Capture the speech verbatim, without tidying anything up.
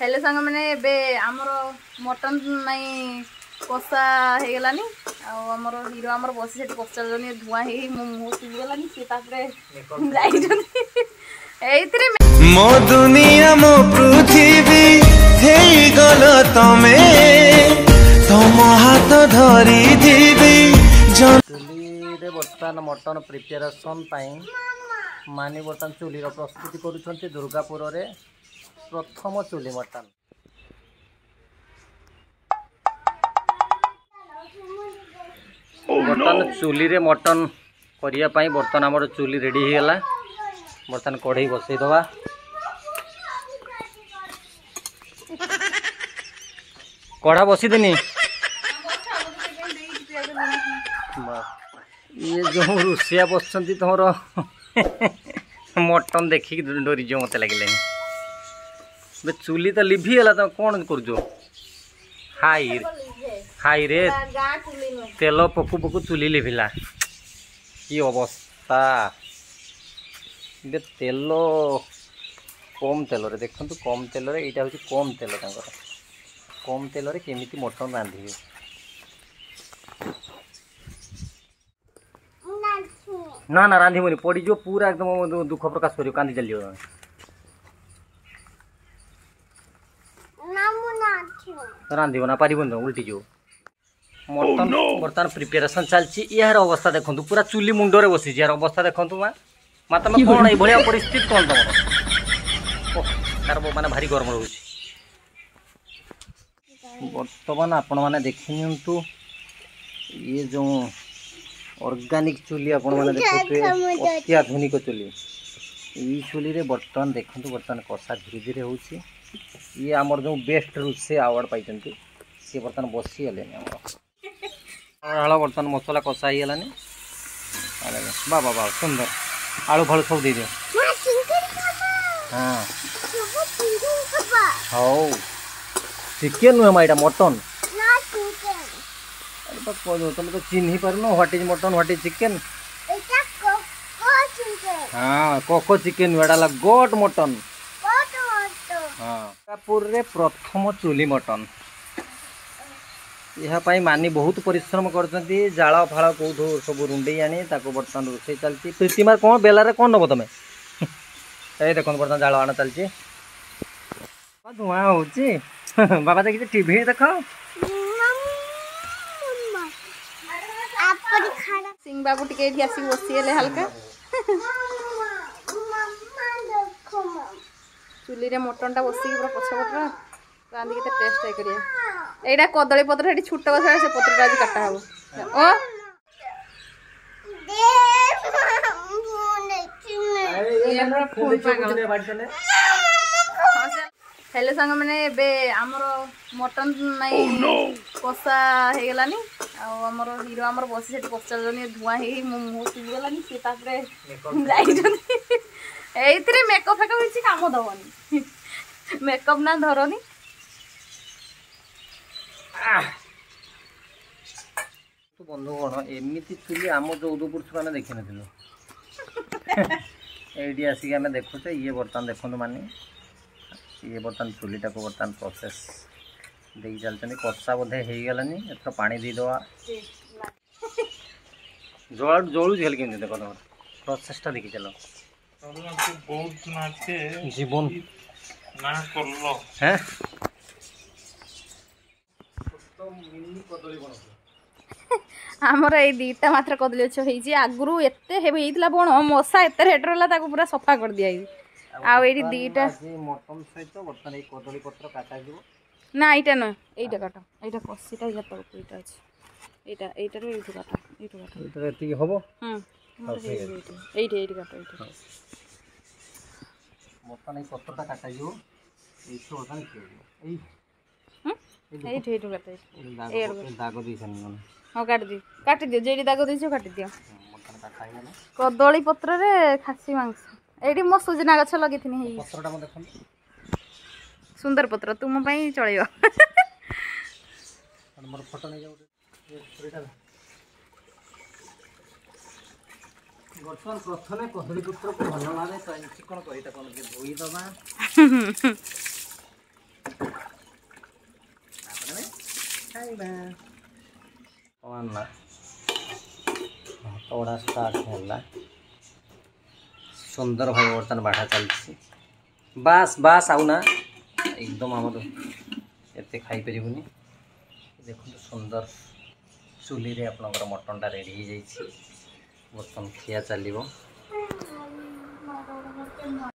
ହେଲେ ସାଙ୍ଗମାନେ, ଏବେ ଆମର ମଟନ୍ ନାଇଁ କଷା ହେଇଗଲାନି। ଆଉ ଆମର ହିରୋ ଆମର ବସି ସେଠି ପଚାରୁଛନ୍ତି, ଧୂଆଁ ହେଇ ମୋ ମୁହଁ ସିଝିଗଲାନି। ସିଏ ତାପରେ ଯାଇଛନ୍ତି ଏଇଥିରେ। ମୋ ଦୁନିଆ, ମୋ ପୃଥିବୀ ହେଇଗଲ ତମେ, ତମ ହାତ ଧରିଥିବି। ଚୁଲିରେ ବର୍ତ୍ତମାନ ମଟନ ପ୍ରିପାରେସନ୍ ପାଇଁ ମାନି ବର୍ତ୍ତମାନ ଚୁଲିର ପ୍ରସ୍ତୁତି କରୁଛନ୍ତି। ଦୁର୍ଗାପୁରରେ ପ୍ରଥମ ଚୁଲି ମଟନ। ବର୍ତ୍ତମାନ ଚୁଲିରେ ମଟନ କରିବା ପାଇଁ ବର୍ତ୍ତମାନ ଆମର ଚୁଲି ରେଡ଼ି ହେଇଗଲା। ବର୍ତ୍ତମାନ କଢ଼େଇ ବସେଇଦେବା। କଢ଼ା ବସିଦେନି। ଇଏ ଯେଉଁ ରୋଷେଇଆ ବସିଛନ୍ତି, ତମର ମଟନ ଦେଖିକି ଡରିଯିବ ମୋତେ ଲାଗିଲାନି। ଏବେ ଚୁଲି ତ ଲିଭିଗଲା, ତମେ କ'ଣ କରୁଛ? ହାଇ ହାଇ ରେ, ତେଲ ପକୁ ପକୁ ଚୁଲି ଲିଭିଲା, କି ଅବସ୍ଥା! ଏବେ ତେଲ କମ୍ ତେଲରେ ଦେଖନ୍ତୁ, କମ୍ ତେଲରେ, ଏଇଟା ହେଉଛି କମ୍ ତେଲ ତାଙ୍କର। କମ୍ ତେଲରେ କେମିତି ମଟନ ରାନ୍ଧିବେ। ନା ନା, ରାନ୍ଧିବନି, ପଡ଼ିଯିବ ପୁରା ଏକଦମ। ଦୁଃଖ ପ୍ରକାଶ କରିବ, କାନ୍ଦି ଚାଲିଯିବ ତମେ। ରାନ୍ଧିବ ନା, ପାରିବନି ତମେ, ଉଲ୍ଟିଯିବ। ମଟନ ବର୍ତ୍ତମାନ ପ୍ରିପାରେସନ୍ ଚାଲିଛି। ଏହାର ଅବସ୍ଥା ଦେଖନ୍ତୁ, ପୁରା ଚୁଲି ମୁଣ୍ଡରେ ବସିଛି। ଏହାର ଅବସ୍ଥା ଦେଖନ୍ତୁ। ମା ମା, ତମେ କ'ଣ ଏଇଭଳିଆ ପରିସ୍ଥିତି କ'ଣ ତମର? ଓହ, ତାର ମାନେ ଭାରି ଗରମ ରହୁଛି। ବର୍ତ୍ତମାନ ଆପଣମାନେ ଦେଖି ନିଅନ୍ତୁ, ଇଏ ଯେଉଁ ଅର୍ଗାନିକ୍ ଚୁଲି ଆପଣମାନେ ଦେଖୁଥିବେ, ଅତ୍ୟାଧୁନିକ ଚୁଲି। ଏଇ ଚୁଲିରେ ବର୍ତ୍ତମାନ ଦେଖନ୍ତୁ, ବର୍ତ୍ତମାନ କଷା ଧୀରେ ଧୀରେ ହେଉଛି। ଇଏ ଆମର ଯେଉଁ ବେଷ୍ଟ ରୋଷେଇ ଆୱାର୍ଡ଼ ପାଇଛନ୍ତି, ସିଏ ବର୍ତ୍ତମାନ ବସିଗଲେଣି। ଆମର ଆଳ ବର୍ତ୍ତମାନ ମସଲା କଷା ହେଇଗଲାନି। ବା ବା ବା, ସୁନ୍ଦର। ଆଳୁ ଫାଳୁ ସବୁ ଦେଇଦିଅ। ହଁ, ହଉ। ଚିକେନ୍ ନୁହେଁ ମା, ଏଇଟା ମଟନ୍। ତମେ ତ ଚିହ୍ନି ପାରୁନ what is mutton, what is chicken। ହଁ, କୋକୋ ଚିକେନ୍ ନୁହେଁ, ଏଇଟା ହେଲା ଗୋଟ୍ ମଟନ୍। ହଁ, ଦୁର୍ଗାପୁରରେ ପ୍ରଥମ ଚୁଲି ମଟନ୍। ଏହା ପାଇଁ ମାନି ବହୁତ ପରିଶ୍ରମ କରିଛନ୍ତି। ଜାଳ ଫାଳ କେଉଁଠୁ ସବୁ ରୁଣ୍ଡେଇ ଆଣି ତାକୁ ବର୍ତ୍ତମାନ ରୋଷେଇ ଚାଲିଛି। ପ୍ରୀତିମା, କ'ଣ ବେଲାରେ କ'ଣ ନେବ ତମେ? ଏଇ ଦେଖନ୍ତୁ, ବର୍ତ୍ତମାନ ଜାଳ ଆଣ ଚାଲିଛି। ଧୂଆଁ ହେଉଛି। ବାବା ଦେଖିଛି, ଟିଭି ଦେଖ। ସିଂ ବାବୁ ଟିକେ ଏଇଠି ଆସିକି ବସିଗଲେ ହାଲକା। ଚୁଲିରେ ମଟନଟା ବସିକି ପୁରା ପଛପଟର ରାନ୍ଧିକି କେତେ ଟେଷ୍ଟ କରିବା। ଏଇଟା କଦଳୀ ପତ୍ର, ସେଠି ଛୋଟ ଗଛ, ସେ ପତ୍ରଟା ଆଜି କାଟା ହବ। ଓ ହେଲେ ସାଙ୍ଗମାନେ, ଏବେ ଆମର ମଟନ୍ ନାଇଁ କଷା ହେଇଗଲାନି। ଆଉ ଆମର ହିରୋ ଆମର ବସି ସେଠି ପଚାରୁଛନ୍ତି, ଧୂଆଁ ହେଇ ମୋ ମୁହଁ ସିଝିଗଲାନି। ସିଏ ତାପରେ ଯାଇଛନ୍ତି। ଏଇଥିରେ ମେକଅପ୍ ଫେକଅପ୍ କିଛି କାମ ଦବନି, ମେକଅପ୍ ନା ଧରନି। ବନ୍ଧୁଗଣ, ଏମିତି ଚୁଲି ଆମ ଚଉଦ ପୁରୁଷ ଆମେ ଦେଖିନଥିଲୁ, ଏଇଠି ଆସିକି ଆମେ ଦେଖୁଛେ। ଇଏ ବର୍ତ୍ତମାନ ଦେଖନ୍ତୁ, ମାନେ ଇଏ ବର୍ତ୍ତମାନ ଚୁଲିଟାକୁ ବର୍ତ୍ତମାନ ପ୍ରୋସେସ୍ ଦେଇ ଚାଲିଛନ୍ତି। କଷା ବୋଧେ ହେଇଗଲାନି, ଏଥର ପାଣି ଦେଇଦେବା। ଜଳ ଜଳୁଛି ଖାଲି କେମିତି ଦେଖ, ତମର ପ୍ରୋସେସଟା ଦେଖି ଚାଲ। ଜୀବନ ହେଁ ମିନି କଦଳୀ ବଣ। ଆମର ଏଇ ଦୁଇଟା ମାତ୍ର କଦଳୀ ଗଛ ହେଇଛି। ଆଗରୁ ଏତେ ହେଇଥିଲା ବଣ, ମଶା ଏତେ ରେଟ୍ ରହିଲା, ତାକୁ ପୁରା ସଫା କରିଦିଆଯାଇଛି। ଆଉ ଏଇଠି ଦୁଇଟା ମଟନ ସହିତ ବର୍ତ୍ତମାନ ଏଇ କଦଳୀ ପତ୍ର କାଟାଯିବ। ନା, ଏଇଟା ନୁହେଁ, ଏଇଟା କାଟ। ଏଇଟା କଷିଟା ଇୟା ତଳକୁ ଏଇଟା ଅଛି। ଏଇଟା ଏଇଟାରୁ ଏଇଠୁ କାଟ, ଏଇଠୁ କାଟ। ଏଇଟା ଏତିକି ହବ। ହୁଁ, ଏଇଠି ଏଇଠି କାଟ, ଏଇଠି। ବର୍ତ୍ତମାନ ଏଇ ପତ୍ରଟା କାଟାଯିବ। ଏଇଠୁ ବର୍ତ୍ତମାନ ଖିଆଯିବ। ଏଇ ଏଇଠୁ ଏଇଠୁ କାଟ। ଏଇଠି ଦାଗ ଦେଇଛନ୍ତି। ହଁ, କାଟିଦିଅ, କାଟିଦିଅ, ଯେଉଁଠି ଦାଗ ଦେଇଛ କାଟିଦିଅ। କଦଳୀ ପତ୍ରରେ ଖାସି ମାଂସ। ଏଇଠି ମୋ ସୁଜନା ଗଛ ଲଗେଇଥିନି, ହେଇ ସୁନ୍ଦର ପତ୍ର, ତୁମ ପାଇଁ ଚଳିବ। ମୋର ଫଟୋ ନେଇଯାଉ। ବର୍ତ୍ତମାନ ପ୍ରଥମେ କଦଳୀ ପତ୍ରକୁ ଭଲ ଭାବେ ଚିକଣ କରି ତାକୁ ଆମେ ଧୋଇଦେବା। ଖାଇବା। ବର୍ତ୍ତମାନ ଭାତ ବଢ଼ା ଷ୍ଟାର୍ଟ ହେଲା। ସୁନ୍ଦର ଭାବେ ବର୍ତ୍ତମାନ ବାଢ଼ା ଚାଲିଛି। ବାସ୍ ବାସ୍, ଆଉ ନା, ଏକଦମ ଆମର ଏତେ ଖାଇପାରିବୁନି। ଦେଖନ୍ତୁ, ସୁନ୍ଦର ଚୁଲିରେ ଆପଣଙ୍କର ମଟନଟା ରେଡ଼ି ହେଇଯାଇଛି। ବର୍ତ୍ତମାନ ଖିଆ ଚାଲିବ।